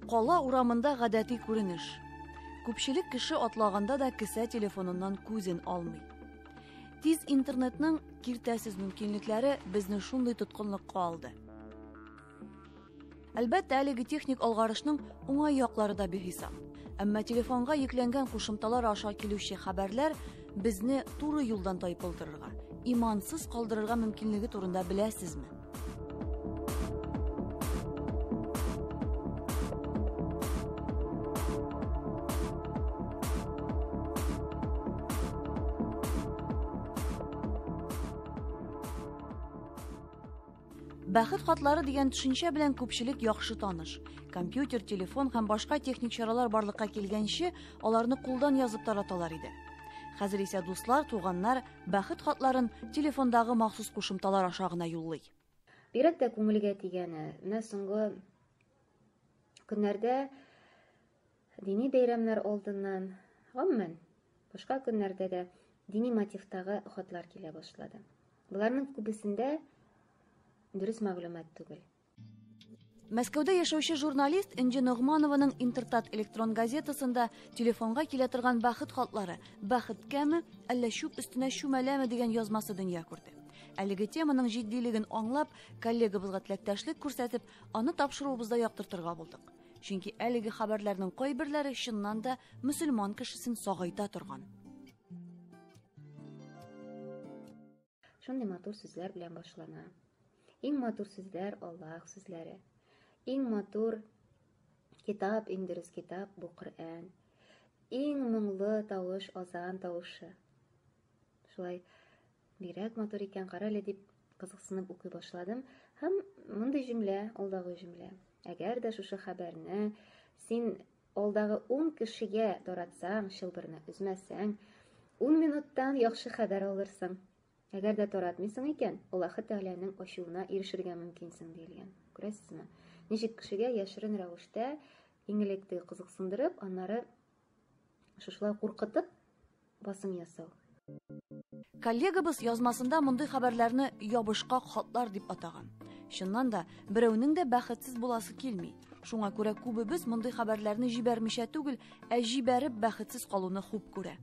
Кала урамында гадәти күренеш. Күпчелек кеше атлаганда да кесә телефоныннан күзен алмый. Тиз интернетның киртәсез мөмкинлекләре безне шундый тоткынлыкка алды. Әлбәттә, әлеге техник алгарышның уңай яклары да бихисап. Әмма телефонга йөкләнгән кушымталар аша килүче хәбәрләр безне туры юлдан тайпылдырырга, имансыз калдырырга мөмкинлеге турында беләсезме? Бәхет хатлары дигән төшенчә белән күпчелек яхшы таныш. Компьютер, телефон һәм башка техник чаралар барлыкка килгәнче, аларны кулдан язып тараталар иде. Хәзер исә дуслар, туганнар бәхет хатларын телефондагы махсус кушымталар аша гына юллый. Бигрәк тә күңелгә тигәне, менә соңгы көннәрдә дини бәйрәмнәр алдыннан, гомумән, башка көннәрдә дә дини мотивтагы хатлар килә башлады. Боларның күбесендә дөрес мәгълүмат түгел. Мәскәүдә яшәүче журналист Энҗе Ногманованың Интертат электрон газетасында телефонга килә торган бәхет хатлары бәхеткәме, әллә чүп өстенә чүмәләме дигән язмасы дөнья күрде. Әлеге теманың җитдилеген аңлап, коллегабызга теләктәшлек күрсәтеп, аны тапшыруыбызда яктыртырга булдык. Чөнки әлеге хәбәрләрнең кайберләре чыннан да мөселман кешесен сагайта торган. Шундый матур сүзләр белән башлана. Иң матур сүзләр Аллаһ сүзләре. Иң матур китап, иң дөрес китап бу Коръән. Иң моңлы тавыш азан тавышы. Шулай бигрәк матур икән, кара әле дип кызыксынып укый башладым. Һәм мондый җөмлә, алдагы җөмлә. Әгәр дә шушы хәбәрне син алдагы 10 кешегә таратсаң, чылбырны өзмәсәң, 10 минуттан яхшы хәбәр алырсың. Әгәр дә таратмыйсың икән, Аллаһы Тәгаләнең ачуына ирешергә мөмкинсең, диелгән. Күрәсезме? Ничек кешегә яшерен рәвештә иң элек теге кызыксындырып, аннары шушылай куркытып басым ясау. Коллегабыз язмасында мондый хәбәрләрне ябышкак хатлар дип атаган. Чыннан да, берәүнең дә бәхетсез буласы килми. Шуңа күрә күбебез мондый хәбәрләрне җибәрмичә түгел, ә җибәреп бәхетсез калуны хуп күрә.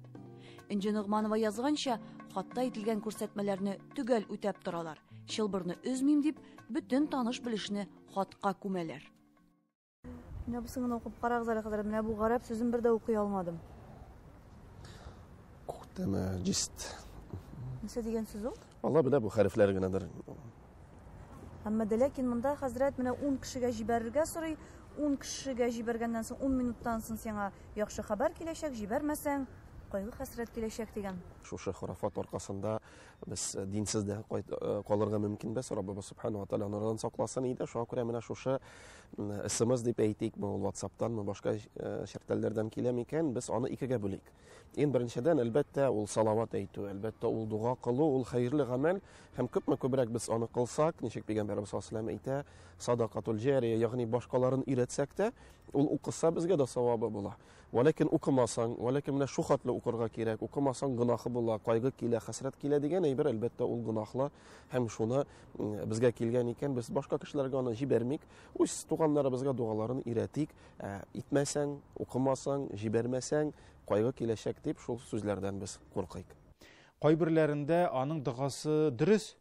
Энҗе Ногманова язганча, хатта әйтелгән күрсәтмәләрне төгәл үтәп торалар. Чылбырны өзмим дип, бөтен таныш-белешне хатка күмәләр. Менә бусын гына укып карагыз әле, хәзрәт. Менә бу гарәп сүзен бер дә укый алмадым. Күктәме җист. Нәрсә дигән сүз ул? Алла белә, бу хәрефләр генәдер. Әмма дә ләкин монда хәзрәт менә 10 кешегә җибәрергә сорый. 10 кешегә җибәргәннән соң 10 минуттан соң сиңа яхшы хәбәр киләчәк, җибәрмәсәң, кайгы-хәсрәт киләчәк дигән. Шушы хорафат аркасында без динсез дә калырга мөмкинбез. Раббыбыз субхана ва тааля анардан сакласын иде. Шуңа күрә менә шушы SMS дип әйтикме, ул WhatsApp-танмы, башка чертәлләрдән килә микән, без аны икегә бүлик. Иң беренчедән, әлбәттә, ул салават әйтү, әлбәттә, ул дога кылу, ул хәерле гамәл, һәм күпме күбрәк без аны кылсак, ничек пәйгамбәребез саллаллаһу алейһи ва сәлләм әйтә, садакатул җария, ягъни башкаларын өйрәтсәк тә, ул укыса безгә дә савабы була. Вәләкин укымасаң, вәләкин менә шу хәтле укырга кирәк, укымасаң гөнаһы була, кайгы килә, хәсрәт килә дигән әйбер, әлбәттә, ул гөнаһлы, һәм шуны безгә килгән икән, без башка кешеләргә аны җибәрмик, үз туганнарыбызга догаларын өйрәтик, итмәсәң, укымасаң, җибәрмәсәң, кайгы киләчәк дип шул сүзләрдән без куркыйк. Кайберләрендә аның догасы дөрес,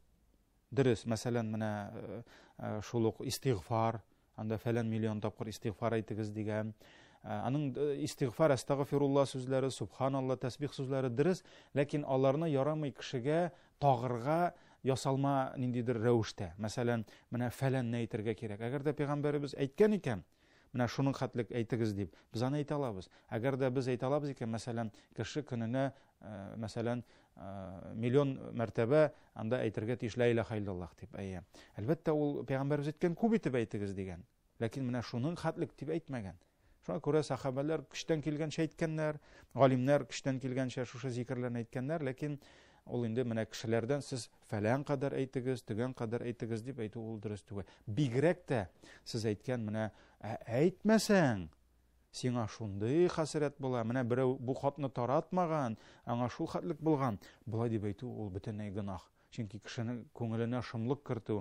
дөрес, мәсәлән, менә шул ук истигъфар, анда фәлән миллион тапкыр истигъфар әйтегез дигән. Аның истигъфар, әстәгъфирулла сүзләре, субханалла, тәсбих сүзләре дөрес, ләкин аларны ярамый кешегә тагырга ясалма ниндидер рәвештә. Мәсәлән, менә фәләнне әйтергә кирәк. Әгәр дә пәйгамбәребез әйткән икән, менә шуның хәтлек әйтегез дип, без аны әйтә алабыз. Әгәр дә без әйтә алабыз икән, мәсәлән, кеше көненә, мәсәлән, миллион мәртәбә анда әйтергә тиеш ла илаһа иллаллаһ дип. Әйе. Әлбәттә, ул пәйгамбәребез әйткән күп итеп әйтегез дигән. Ләкин менә шуның хәтлек дип әйтмәгән. Шуңа күрә сахабәләр көчтән килгәнчә әйткәннәр, галимнәр көчтән килгәнчә шушы зикерләрне әйткәннәр, ләкин ул инде менә кешеләрдән сез фәлән кадәр әйтегез, төгән кадәр әйтегез дип әйтү ул дөрес түгел. Бигрәк тә сез әйткән менә, әйтмәсәң, сиңа шундый хәсрәт була, менә берәү бу хатны таратмаган, аңа шул хәтлек булган. Болай дип әйтү ул бөтенләй гөнаһ. Чөнки кешенең күңеленә шомлык кертү,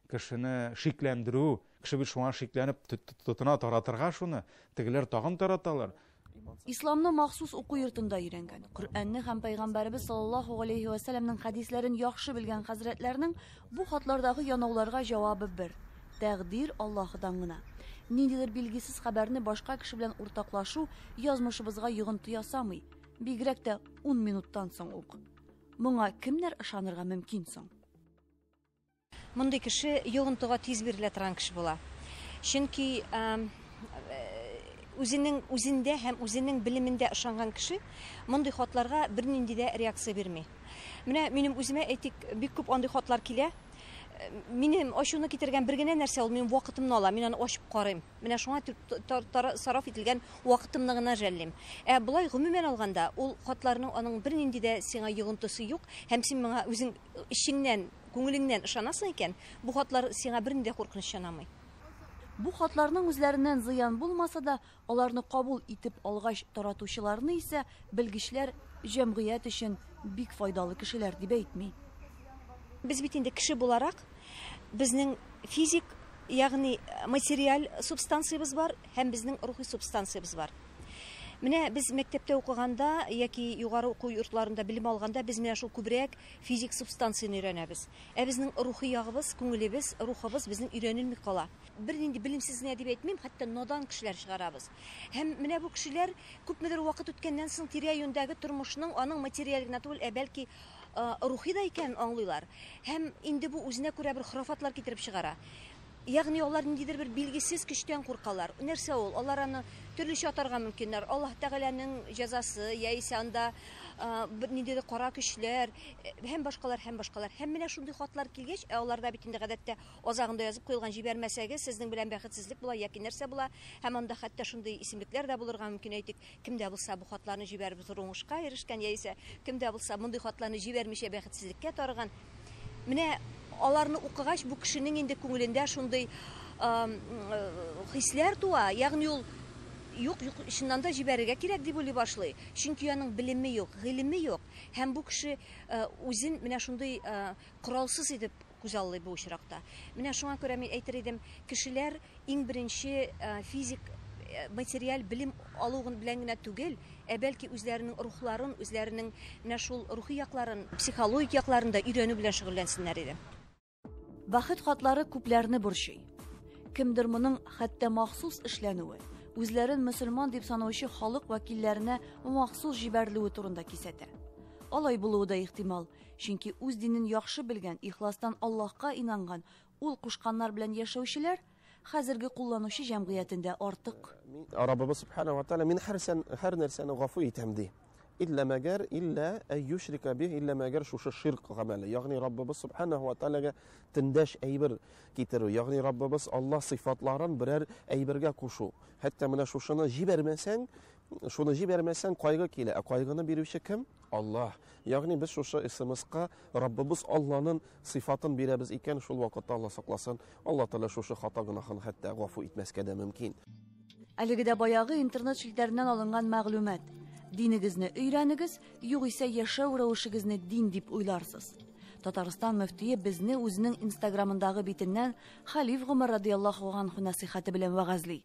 кешене шикләндерү, кеше бит шуңа шикләнеп тотына таратырга шуны, тегеләр тагын тараталар. Исламны махсус уку йортында өйрәнгән, Коръәнне һәм Пәйгамбәребез саллаллаһу алейһи вә сәлләмнең хәдисләрен яхшы белгән хәзрәтләрнең бу хатлардагы янауларга җавабы бер: тәкъдир Аллаһыдан гына. Ниндидер билгесез хәбәрне башка кеше белән уртаклашу язмышыбызга йогынты ясамый, бигрәк тә 10 минуттан соң ук. Моңа кемнәр ышанырга мөмкин соң? Мондый кеше йогынтыга тиз бирелә торган кеше була. Чөнки үзенең үзендә һәм үзенең белемендә ышанган кеше мондый хатларга бернинди дә реакция бирми. Менә минем үземә, әйтик, бик күп андый хатлар килә. Минем ачуны китергән бер генә нәрсә ул минем вакытымны ала, мин аны ачып карыйм. Менә шуңа сарыф ителгән вакытымны гына жәллим. Ә болай гомумән алганда, ул хатларның аның бернинди дә сиңа йогынтысы юк, һәм син моңа үзең эчеңнән, күңелеңнән ышанасың икән, бу хатлар сиңа бернинди дә куркыныч янамый. Бу хатларның үзләреннән зыян булмаса да, аларны кабул итеп алгач таратучыларны исә белгечләр җәмгыять өчен бик файдалы кешеләр дип әйтми. Без бит инде кеше буларак, безнең физик, ягъни материаль субстанциябез бар һәм безнең рухи субстанциябез бар. Менә без мәктәптә укыганда яки югары уку йортларында белем алганда без менә шул күбрәк физик субстанцияне өйрәнәбез. Ә безнең рухи ягыбыз, күңелебез, рухыбыз безнең өйрәнелми кала. Бернинди белемсез генә дип әйтмим, хәтта надан кешеләр чыгарабыз. Һәм менә бу кешеләр күпмедер вакыт үткәннән соң тирә-юньдәге тормышның аның материаль генә түгел, ә бәлки рухи да икәнен аңлыйлар. Һәм инде бу үзенә күрә бер хорафатлар китереп чыгара. Ягъни алар ниндидер бер билгесез көчтән куркалар. Нәрсә ул? Алар аны төрлечә атарга мөмкиннәр. Аллаһ Тәгаләнең җәзасы, яисә анда бер ниндидер кара көчләр һәм башкалар, һәм башкалар. Һәм менә шундый хатлар килгәч, ә аларда бит инде гадәттә азагында язып куелган җибәрмәсәгез, сезнең белән бәхетсезлек була яки нәрсә була. Һәм анда хәтта шундый исемлекләр дә булырга мөмкин, әйтик, кем дә булса бу хатларны җибәреп зур уңышка ирешкән, яисә кем дә булса мондый хатларны җибәрмичә бәхетсезлеккә тарыган. Менә аларны укыгач, бу кешенең инде күңелендә шундый хисләр туа, ягъни ул юк, юк, чыннан да җибәрергә кирәк дип уйлый башлый. Чөнки аның белеме юк, гыйлеме юк. Һәм бу кеше үзен менә шундый коралсыз итеп күзаллый бу очракта. Менә шуңа күрә мин әйтер идем, кешеләр иң беренче физик, материаль белем алу белән генә түгел, ә бәлки үзләренең рухларын, үзләренең менә шул рухи якларын, психологик якларын да өйрәнү белән шөгыльләнсеннәр иде. Бәхет хатлары күпләрне борчый. Кемдер моның хәтта махсус эшләнүе, үзләрен мөселман дип санаучы халык вәкилләренә махсус җибәрелүе турында кисәтә. Алай булуы да ихтимал, чөнки үз динен яхшы белгән, ихластан Аллаһка инанган, ул кушканнар белән яшәүчеләр хәзерге кулланучы җәмгыятендә артык. Раббыбыз субхана ва тааля мин һәр нәрсәне гафу итәм ди. Илля мәгәр, илля әй юшрика бих, илля мәгәр шушы ширк гамәле. Ягъни Раббыбыз субхана ва тааляга тиңдәш әйбер китерү. Ягъни Раббыбыз Аллаһ сыйфатларын берәр әйбергә кушу. Хәтта менә шушыны җибәрмәсәң, шуны җибәрмәсәң кайгы килә. Ә кайгыны бирүче кем? Аллаһ. Ягъни без шушы СМС-ка Раббыбыз Аллаһның сыйфатын бирәбез икән, шул вакытта Аллаһ сакласын, Аллаһ Тәгалә шушы хата гөнаһын хәтта гафу итмәскә дә мөмкин. Әлеге дә баягы интернет челтәреннән алынган мәгълүмат. Динегезне өйрәнегез, югыйсә яшәү рәвешегезне дин дип уйларсыз. Татарстан мөфтие безне үзенең Инстаграмындагы битеннән Халиф Гомәр радияллаһу анһу нәсыйхәте белән вәгазьли.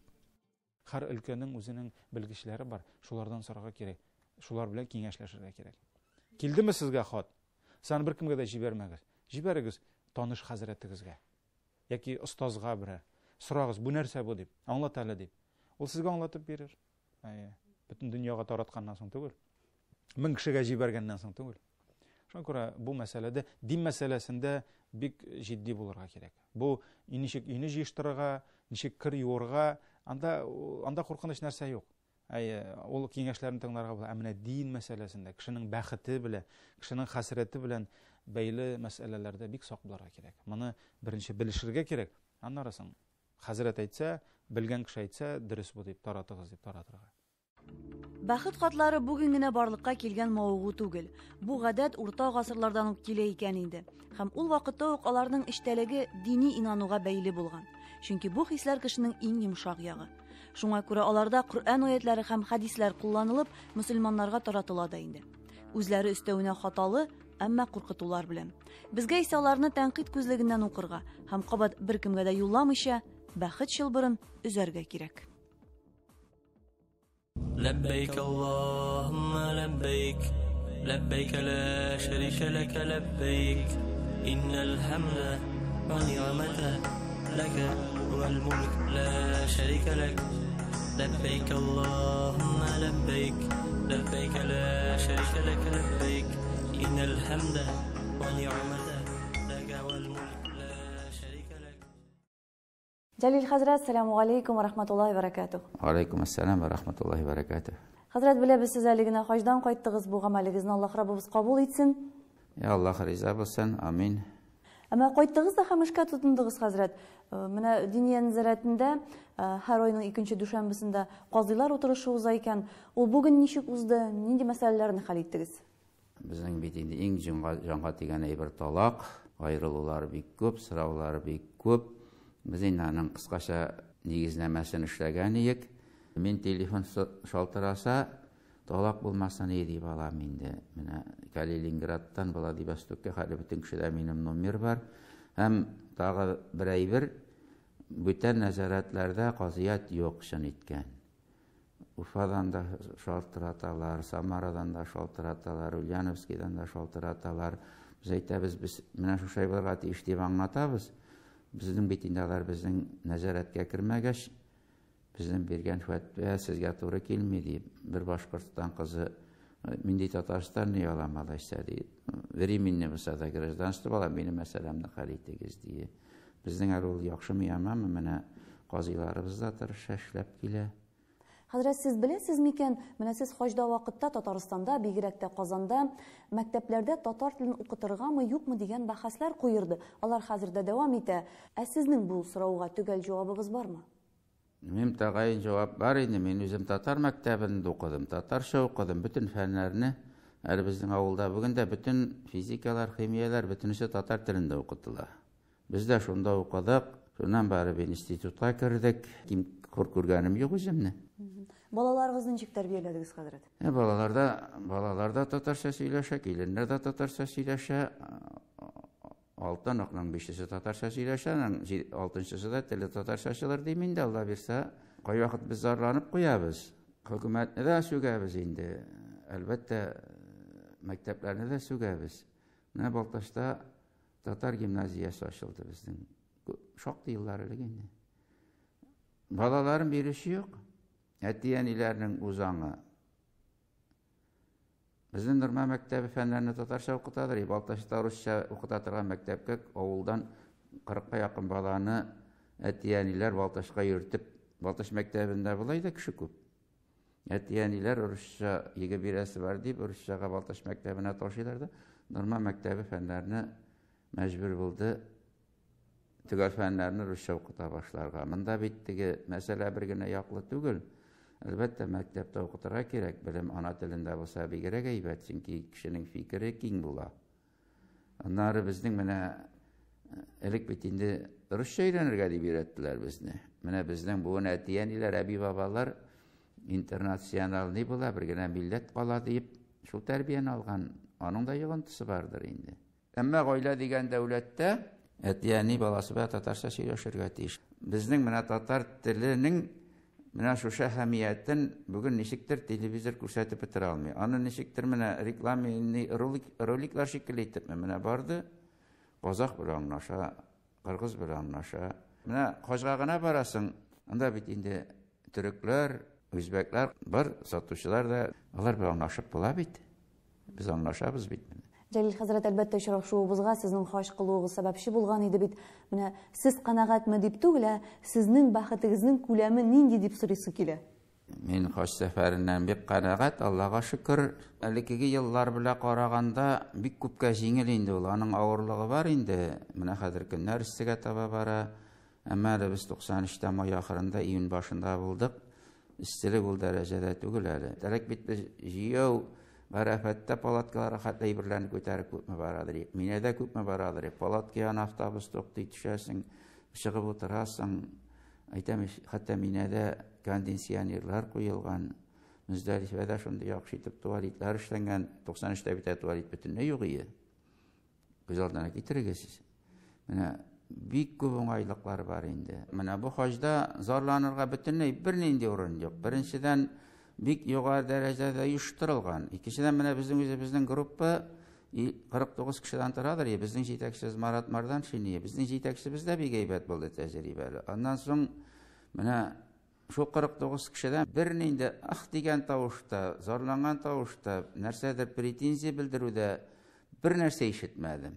Һәр өлкәнең үзенең белгечләре бар, шулардан сорарга кирәк, шулар белән киңәшләшергә кирәк. Килдеме сезгә хат? Сез аны беркемгә дә җибәрмәгез. Җибәрегез таныш хәзрәтегезгә яки остазга берәр. Сорагыз, бу нәрсә бу дип, аңлат әле дип. Ул сезгә аңлатып бирер. Әйе, бөтен дөньяга таратканнан соң түгел. 1000 кешегә җибәргәннән соң түгел. Шуңа күрә бу мәсьәләдә, дин мәсьәләсендә бик җитди булырга кирәк. Бу ничек өйне җыештырырга, ничек кер юырга, анда куркыныч нәрсә юк. Әйе, ул киңәшләрне тыңларга була. Ә менә дин мәсьәләсендә, кешенең бәхете белән, кешенең хәсрәте белән бәйле мәсьәләләрдә бик сак булырга кирәк. Моны беренче белешергә кирәк. Аннары соң хәзрәт әйтсә, белгән кеше әйтсә, дөрес бу дип таратыгыз дип таратырга. Бәхет хатлары бүген генә барлыкка килгән мавыгу түгел. Бу гадәт урта гасырлардан ук килә икән инде. Һәм ул вакытта ук аларның эчтәлеге дини инануга бәйле булган. Чөнки бу хисләр кешенең иң йомшак ягы. Шуңа күрә аларда Коръән аятлары һәм хәдисләр кулланылып, мөселманнарга таратыла да инде. Үзләре өстәвенә хаталы, әмма куркытулар белән. Безгә исә аларны тәнкыйть күзлегеннән укырга һәм кабат беркемгә дә юлламыйча бәхет чылбырын өзәргә кирәк. لبيك اللهم لبيك لبيك لا شريك لك لبيك إن الحمد والنعمة لك والملك لا شريك لك لبيك اللهم لبيك لبيك لا شريك لك لبيك إن الحمد والنعمة لك والملك لا شريك لك. Җәлил хәзрәт, сәламу алейкум ва рахматуллаһи ва баракатуһ. Алейкум ассалам ва рахматуллаһи ва баракатуһ. Хәзрәт, беләбез, сез әле генә хаҗдан кайттыгыз. Бу гамәлегезне Аллаһ Раббыбыз кабул итсен. Я Аллаһ риза булсын. Амин. Әмма кайттыгыз да һәм эшкә тотындыгыз, хәзрәт. Менә Диния нәзарәтендә һәр айның икенче дүшәмбесендә казыйлар утырышы уза икән. Ул бүген ничек узды? Нинди мәсьәләләрне хәл иттегез? Безнең бит инде иң җанга тигән әйбер талак, аерылулар бик күп, сораулар бик күп. Без инде аның кыскача нигезнамәсен эшләгән идек. Мин телефон шалтыраса, талак булмасын иде дип алам инде. Менә Калининградтан Владивостокка хәтле бөтен кешедә минем номер бар. Һәм тагы бер әйбер, бүтән нәзарәтләрдә казыят юк чын иткән. Уфадан да шалтыраталар, Самарадан да шалтыраталар, Ульяновскийдан да шалтыраталар. Без әйтәбез, без менә шушай булырга тиеш дип аңлатабыз. Безнең бит инде алар безнең нәзарәткә кермәгәч, безнең биргән фәтва сезгә туры килми дип, бер Башкортстан кызы, мин ди Татарстан ни алам алайса ди, временный булса да гражданство алам, минем мәсьәләмне хәл итегез ди. Безнең әле ул яхшымы яманмы, менә казыйларыбыз да тырыша эшләп килә. Хәзрәт, сез беләсез микән, менә сез хаҗда вакытта Татарстанда, бигрәк тә Казанда мәктәпләрдә татар телен укытыргамы, юкмы дигән бәхәсләр куерды. Алар хәзер дә дәвам итә. Ә сезнең бу сорауга төгәл җавабыгыз бармы? Минем тәгаен җавап бар инде. Мин үзем татар мәктәбендә укыдым, татарча укыдым, бөтен фәннәрне. Әле безнең авылда бүген дә бөтен физикалар, химияләр бөтенесе татар телендә укытыла. Без дә шунда укыдык, шуннан барып институтка кердек. Ким хур күргәнем юк үземне. Балаларыгызны ничек тәрбияләдегез, хәзрәт? Балалар да татарча сөйләшә, киленнәр дә татарча сөйләшә. Алты оныкның бишесе татарча сөйләшә, аның алтынчысы да теле татарча чыгыр дим инде, Алла бирсә. Кайвакыт без зарланып куябыз. Хөкүмәтне дә сүгәбез инде. Әлбәттә, мәктәпләрне дә сүгәбез. Менә Балтачта татар гимназиясе ачылды безнең. Шактый еллар элек инде. Балаларын бирүче юк. Әти-әниләрнең үз аңы. Безнең Норма мәктәбе фәннәрне татарча укытадыр. Балтачта русча укыта торган мәктәпкә авылдан 40-ка якын баланы әти-әниләр Балтачка йөртеп, Балтач мәктәбендә болай да кеше күп. Әти-әниләр русча егы бирәсе бар дип, русчага Балтач мәктәбенә ташыйлар да, Норма мәктәбе фәннәрне мәҗбүр булды төгәл фәннәрне русча укыта башларга. Монда бит теге мәсьәлә бер генә яклы түгел. Әлбәттә, мәктәптә укытырга кирәк. Белем ана телендә булса бигрәк әйбәт, чөнки кешенең фикере киң була. Аннары безнең менә элек бит инде русча өйрәнергә дип өйрәттеләр безне. Менә безнең буын әти-әниләр, әби-бабалар интернациональный була, бер генә милләт кала дип шул тәрбияне алган. Аның да йогынтысы бардыр инде. Әмма гаилә дигән дәүләттә әти-әни баласы белән татарча сөйләшергә тиеш. Безнең менә татар теленең менә шушы әһәмиятен бүген ничектер телевизор күрсәтеп бетерә алмый. Аны ничектер менә рекламный роликлар шикелле итепме менә барды. Казах белән аңлаша, кыргыз белән аңлаша. Менә хаҗга гына барасың, анда бит инде төрекләр, үзбәкләр бар, сатучылар да, алар белән аңлашып була бит. Без аңлашабыз бит. Җәлил хәзрәт, әлбәттә, очрашуыбызга сезнең хаҗ кылуыгыз сәбәпче булган иде бит. Менә сез канәгатьме дип түгел, ә сезнең бәхетегезнең күләме нинди дип сорыйсы килә. Мин хаҗ сәфәреннән бик канәгать, Аллага шөкер. Элеккеге еллар белән караганда бик күпкә җиңел инде ул. Аның авырлыгы бар инде. Менә хәзер көннәр эссегә таба бара. Әмма әле без туксан өчтә май ахырында, июнь башында булдык. Эсселек ул дәрәҗәдә түгел әле. Элек бит без җыяу Гарәфәттә палаткаларга хәтле әйберләрне күтәреп күпме барадыр идек. Минәдә күпме барадыр идек. Палатка янына автобус туктый, төшәсең, чыгып утырасың. Әйтәм, хәтта Минәдә кондиционерлар куелган. Мөздәлифәдә шундый яхшы итеп туалетлар эшләнгән. Туксан өчтә бит туалет бөтенләй юк иде. Күз алдына китерегез. Менә бик күп уңайлыклар бар инде. Менә бу хаҗда зарланырга бөтенләй бернинди урын юк. Беренчедән, бик югары дәрәҗәдә оештырылган. Икенчедән, менә безнең үзебезнең группа 49 кешедән торадыр. Безнең җитәкчебез Марат Марданшин, безнең җитәкчебез дә бик әйбәт булды, тәҗрибәле. Аннан соң менә шул 49 кешедән бернинди ах дигән тавышта, зарланган тавышта, нәрсәдер претензия белдерүдә бер нәрсә ишетмәдем.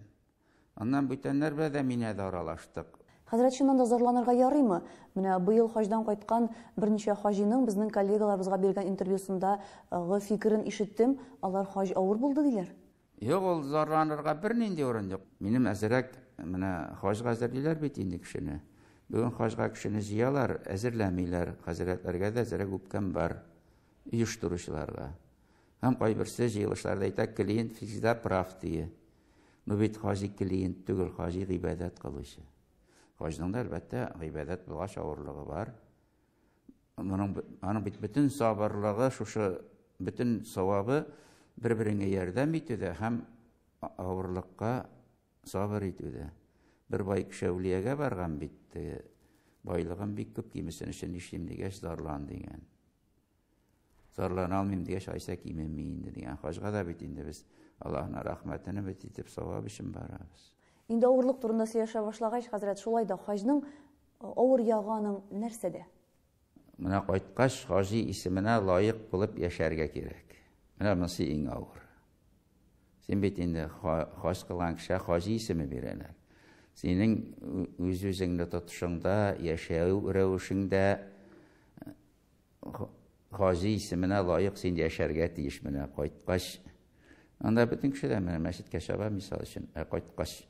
Аннан бүтәннәр белән дә минә дә аралаштык. Хәзрәт, чыннан да зарланырга ярыймы? Менә быел хаҗдан кайткан берничә хаҗиның безнең коллегаларыбызга биргән интервьюсындагы фикерен ишеттем. Алар хаҗ авыр булды диләр. Юк, ул зарланырга бернинди урын юк. Минем әзерәк менә хаҗга әзерлиләр бит инде кешене. Бүген хаҗга кешене җыялар, әзерләмиләр. Хәзрәтләргә дә әзерәк үпкәм бар оештыручыларга. Һәм кайберсе җыелышларда әйтә, клиент всегда прав дие. Ну бит хаҗи клиент түгел, хаҗи гыйбадәт кылучы. Хаҗның да әлбәттә гыйбадәт булгач авырлыгы бар. Моның аның бит бөтен сабырлыгы, шушы бөтен савабы бер-береңә ярдәм итүдә һәм авырлыкка сабыр итүдә. Бер бай кеше әүлиягә барган бит, байлыгым бик күп, кимесен өчен нишлим дигәч, зарлан дигән. Зарлана алмыйм дигәч, айса кимеми инде дигән. Хаҗга да бит инде без Аллаһның рәхмәтен өмет итеп савап өчен барабыз. Инде авырлык турында сөйләшә башлагач, хәзрәт, шулай да хаҗның авыр ягы аның нәрсәдә? Менә кайткач, хаҗи исеменә лаек булып яшәргә кирәк. Менә монысы иң авыр. Син бит инде хаҗ кылган кешегә хаҗи исеме бирәләр. Синең үз-үзеңне тотышыңда, яшәү рәвешеңдә хаҗи исеменә лаек син яшәргә тиеш. Менә кайткач, анда бөтен кеше дә менә мәчеткә чаба, мисал өчен, ә кайткач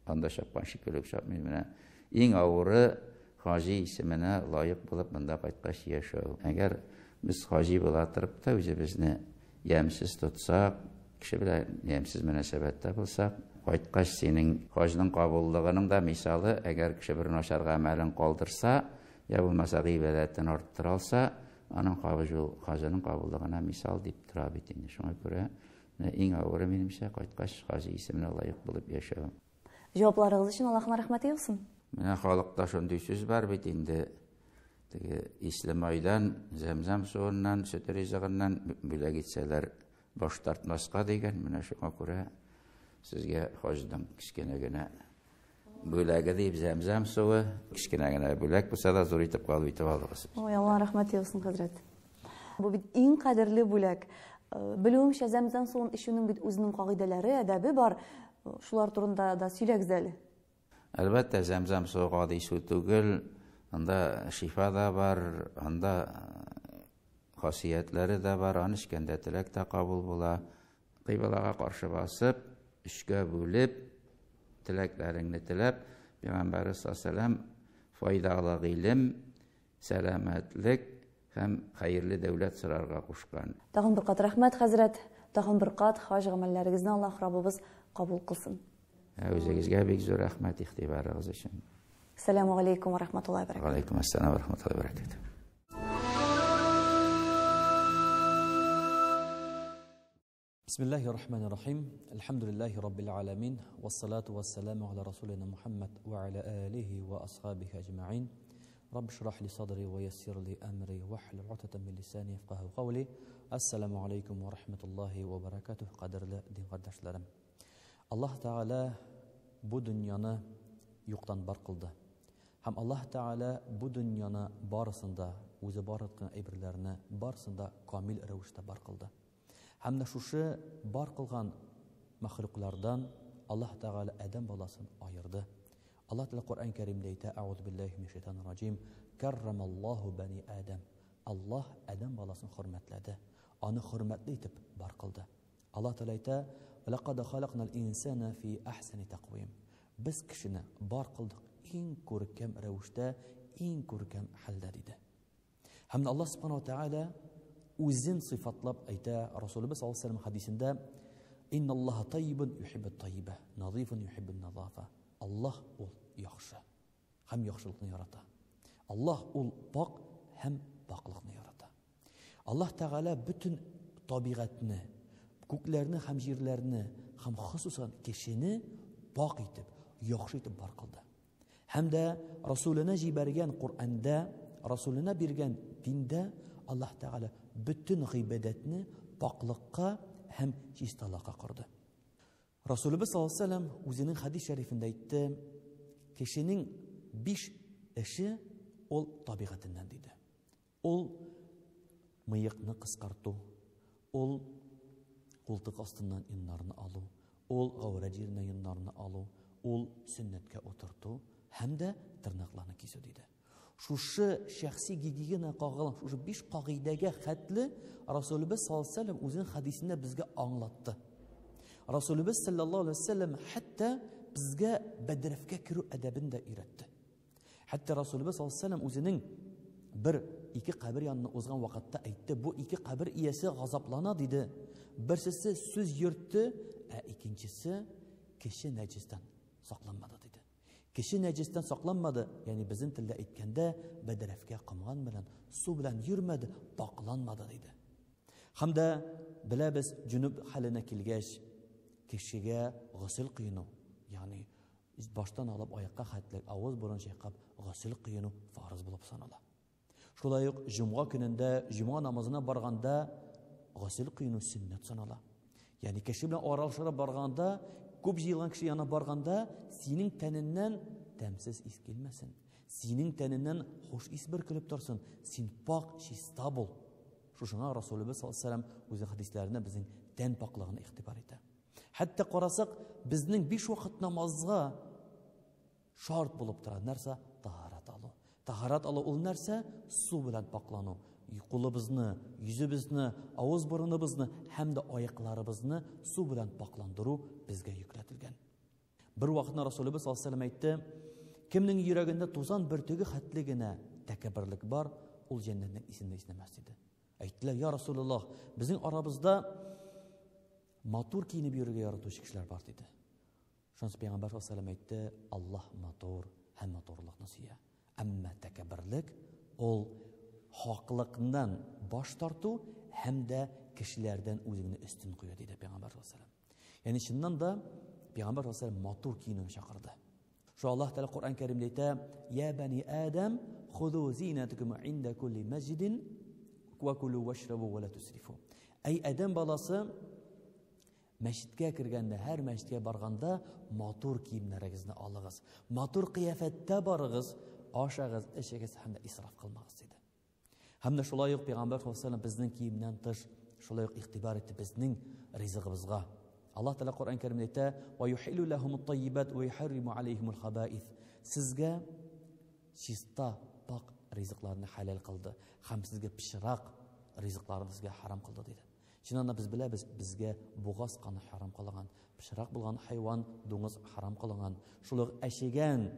анда чапкан шикелле үк чапмый. Менә иң авыры хаҗи исеменә лаек булып монда кайткач яшәү. Әгәр без хаҗи була торып та үзебезне ямьсез тотсак, кеше белән ямьсез мөнәсәбәттә булсак, кайткач синең хаҗның кабуллыгының да мисалы, әгәр кеше бер начар гамәлен калдырса, я булмаса гыйбадәтен арттыра алса, аның хаҗының кабуллыгына мисал дип тора бит инде. Шуңа күрә иң авыры минемчә кайткач хаҗи исеменә лаек булып яшәү. Җавапларыгыз өчен Аллаһның рәхмәте яусын. Менә халыкта шундый сүз бар бит инде. Теге исле майдан, зәмзәм суыннан, сөт ризыгыннан бүләк итсәләр баш тартмаска дигән. Менә шуңа күрә сезгә хаҗның кечкенә генә бүләге дип зәмзәм суы, кечкенә генә бүләк булса да зур итеп кабул итеп алыгыз. Ой, Алла рәхмәте яусын, хәзрәт. Бу бит иң кадерле бүләк. Белүемчә, зәмзәм суын эчүнең бит үзенең кагыйдәләре, әдәбе бар. Шулар турында да сөйләгез әле. Әлбәттә, зәмзәм суы гади су түгел. Анда шифа да бар, анда хасиятләре дә бар, аны эчкәндә теләк тә кабул була. Кыйблага каршы басып, өчкә бүлеп, теләкләреңне теләп, Пәйгамбәрбез саллаллаһу алейһи ва сәлләм файдалы гыйлем, сәламәтлек һәм хәерле дәүләт сорарга кушкан. Тагын бер кат рәхмәт, хәзрәт. Тагын бер кат хаҗ гамәлләрегезне Аллаһ Раббыбыз кабул кылсын. Үзегезгә бик зур рәхмәт игътибарыгыз өчен. Ассаламу алейкум ва рахматуллаһи ва баракатуһ. Ва алейкум ассалам ва рахматуллаһи ва баракатуһ. Бисмиллахи рахмани рахим. Альхамдулиллахи раббил аламин. Вассалату вассаламу аля расулина Мухаммад ва аля алихи ва асхабихи аджмаин. Рабби шрах ли садри ва яссир ли амри вахлул уqдатан мин лисани яфкаху кавли. Ассаламу алейкум ва рахматуллахи ва баракатух. Кадерле дин кардәшләрем. Аллаһ Тааля бу дөньяны юктан бар кылды. Һәм Аллаһ Тааля бу дөньяны барысын да, үзе бар иткән әйберләрне барысын да камил рәвештә бар кылды. Һәм дә шушы бар кылган мәхлуклардан Аллаһ Тааля адәм баласын аерды. Аллаһ Тааля Коръән Кәримдә әйтә: Аузу биллахи минәш шайтанир раҗим. Каррамаллаһу бани Адам. Аллаһ адәм баласын хөрмәтләде. Аны хөрмәтле итеп бар кылды. Аллаһ Тааля әйтә: Лақад халакнал инсана фи ахсани тақвим. Без кешене бар кылдык иң күркәм рәвештә, иң күркәм хәлдә диде. Һәм Аллаһ субхана ва тааля үзен сыйфатлап әйтә Расулыбыз саллаллаһу алейһи ва сәлләм хәдисендә: Инналлаһа таййибун юхиббут таййиба, назифун юхиббун назафа. Аллаһ ул яхшы һәм яхшылыкны ярата. Аллаһ ул пак һәм паклыкны ярата. Аллаһ Тәгалә бөтен табигатьне, күкләрне һәм җирләрне, һәм хосусан кешене пак итеп, яхшы итеп бар кылды. Һәм дә Расуленә җибәргән Коръәндә, Расуленә биргән диндә Аллаһ Тәгалә бөтен гыйбадәтне паклыкка һәм чисталыкка корды. Расулыбыз саллаллаһу алейһи вәсәлләм үзенең хәдис шәрифендә әйтте, кешенең биш эше ул табигатеннән диде. Ул мыекны кыскарту, ул култык астыннан йоннарны алу, ул гаурәт җиреннән йоннарны алу, ул сөннәткә утырту һәм дә тырнакларны кисү диде. Шушы шәхси гигиена кагылган шушы биш кагыйдәгә хәтле Расулыбыз саллаллаһу алейһи вәсәлләм үзенең хәдисендә безгә аңлатты. Расулыбыз саллаллаһу алейһи вәсәлләм хәтта безгә бәдрәфкә керү әдәбен дә өйрәтте. Хәтта Расулыбыз саллаллаһу алейһи вәсәлләм үзенең бер ике кабер янына узган вакытта әйтте, бу ике кабер иясе газаплана диде. Берсесе сүз йөртте, ә икенчесе кеше нәҗистән сакланмады диде. Кеше нәҗистән сакланмады, ягъни безнең телдә әйткәндә, бәдрәфкә комган белән, су белән йөрмәде, пакланмады диде. Һәм дә беләбез, җүнүб хәленә килгәч, кешегә госел коену, ягъни баштан алып аякка хәтле авыз борын чайкап госел коену фарыз булып санала. Шулай ук җомга көнендә җомга намазына барганда госел коену сөннәт санала. Ягъни кеше белән аралашырга барганда, күп җыелган кеше янына барганда, синең тәненнән тәмсез ис килмәсен. Синең тәненнән хуш ис бөркелеп торсын. Син пак, чиста бул. Шушыңа Расулыбыз саллаллаһу алейһи ва сәлләм үзенең хәдисләрендә безнең тән паклыгына игътибар итә. Хәтта карасак, безнең биш вакыт намазга шарт булып тора. Нәрсә? Таһарат алу. Таһарат алу ул нәрсә? Су белән паклану. Кулыбызны, йөзебезне, авыз борыныбызны һәм дә аякларыбызны су белән пакландыру безгә йөкләтелгән. Бер вакытны Расулыбыз саллаллаһу алейһи ва сәлләм әйтте, кемнең йөрәгендә тузан бөртеге хәтле генә тәкәбберлек бар, ул җәннәтнең исен дә иснәмәс диде. Әйттеләр, я Расулуллаһ, безнең арабызда матур киенеп йөрергә яратучы кешеләр бар диде. Шунысы пәйгамбәр саллаллаһу әйтте, Аллаһ матур һәм матурлыкны сөя. Әмма тәкәбберлек ул хаклыкдан баш тарту һәм дә кешеләрдән үзеңне өстен кую диде пәйгамбәр саллаллаһу. Ягъни чыннан да пәйгамбәр саллаллаһу матур киенүгә чакырды. Шу Аллаһ Тәгалә Коръән Кәримдә әйтә: "Я бани Адам, худу зинатакум инда кулли масҗидин ва кулу вашрабу ва ла тусрифу." Әй Адәм баласы, мәчеткә кергәндә, һәр мәчеткә барганда матур киемнәрегезне алыгыз. Матур кыяфәттә барыгыз, ашагыз, эчегез һәм дә исраф кылмагыз диде. Һәм дә шулай ук Пәйгамбәр саллаллаһу алейһи безнең киемнән тыш шулай ук игътибар итте безнең ризыгыбызга. Аллаһ Тәгалә Коръән Кәримдә әйтә: "Ва юхиллу лахумут таййибат ва юхарриму алейхимул хабаис." Сезгә чиста, пак ризыкларны хәләл кылды һәм сезгә пычрак ризыкларны сезгә харам кылды диде. Чыннан да без беләбез, безгә бугаз каны харам кылынган, пычрак булган хайван, дуңгыз харам кылынган. Шул ук әчегән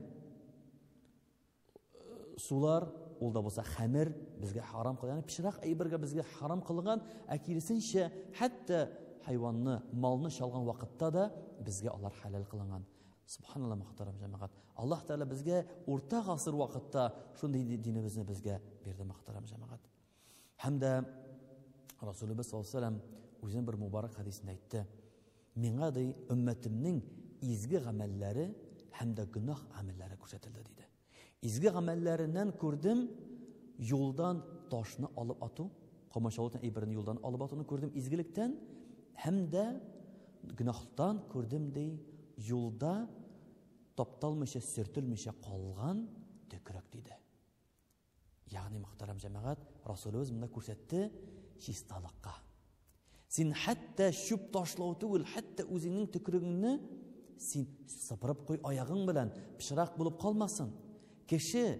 сулар, ул да булса хәмер безгә харам кылынган, ягъни пычрак әйбергә безгә харам кылынган, ә киресенчә, хәтта хайванны, малны чалган вакытта да безгә алар хәләл кылынган. Субханалла, мөхтәрәм җәмәгать. Аллаһ Тәгалә безгә урта гасыр вакытта шундый динебезне безгә бирде, мөхтәрәм җәмәгать. Һәм дә Расулыбыз саллаллаһу алейһи ва сәлләм үзенең бер мубарак хәдисендә әйтте. Миңа ди өммәтемнең изге гамәлләре һәм дә гөнаһ гамәлләре күрсәтелде диде. Изге гамәлләреннән күрдем юлдан ташны алып ату, комачаулы әйберне юлдан алып атуны күрдем изгелектән һәм дә гөнаһтан күрдем ди юлда тапталмыйча, сөртелмичә калган төкрек диде. Ягъни, мөхтәрәм җәмәгать, Расулыбыз монда күрсәтте чисталыкка. Син хәтта чүп ташлау түгел, хәтта үзеңнең төкрегеңне син сыпырып куй аягың белән, пычрак булып калмасын. Кеше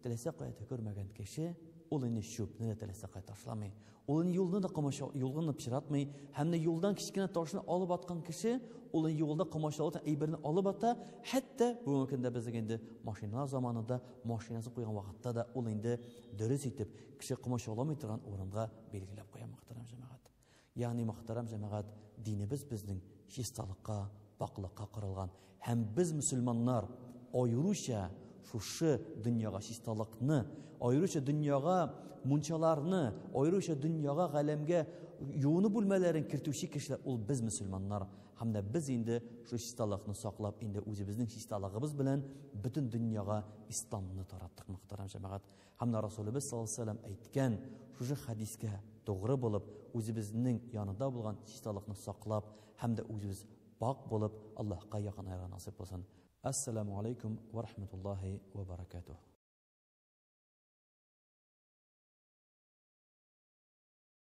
теләсә кая төкермәгән кеше, ул инде чүпне дә теләсә кая ташламый. Ул инде юлны да комачау, юлны пычратмый, һәм дә юлдан кечкенә ташны алып аткан кеше, ул инде юлда комачаулы әйберне алып ата, хәтта бүгенге көндә безнең инде машиналар заманында машинасын куйган вакытта да ул инде дөрес итеп кеше комачауламый торган урынга билгеләп куя, мөхтәрәм җәмәгать. Ягъни, мөхтәрәм җәмәгать, динебез безнең чисталыкка, пакълыкка корылган. Һәм без мөселманнар аеруча шушы дөньяга чисталыкны, аеруча дөньяга мунчаларны, аеруча дөньяга, галәмгә юыну бүлмәләрен кертүче кешеләр ул без мөселманнар. Һәм дә без инде шул чисталыкны саклап, инде үзебезнең чисталыгыбыз белән бөтен дөньяга исламны тараттык, мөхтәрәм җәмәгать. Һәм дә Расулыбыз саллаллаһу алейһи вәсәлләм әйткән шушы хәдискә тугры булып, үзебезнең янында булган чисталыкны саклап һәм дә үзебез пакь булып, Аллаһка якынаерга насыйп булсын. Ассаламу алейкум ва рахматуллахи ва баракатух.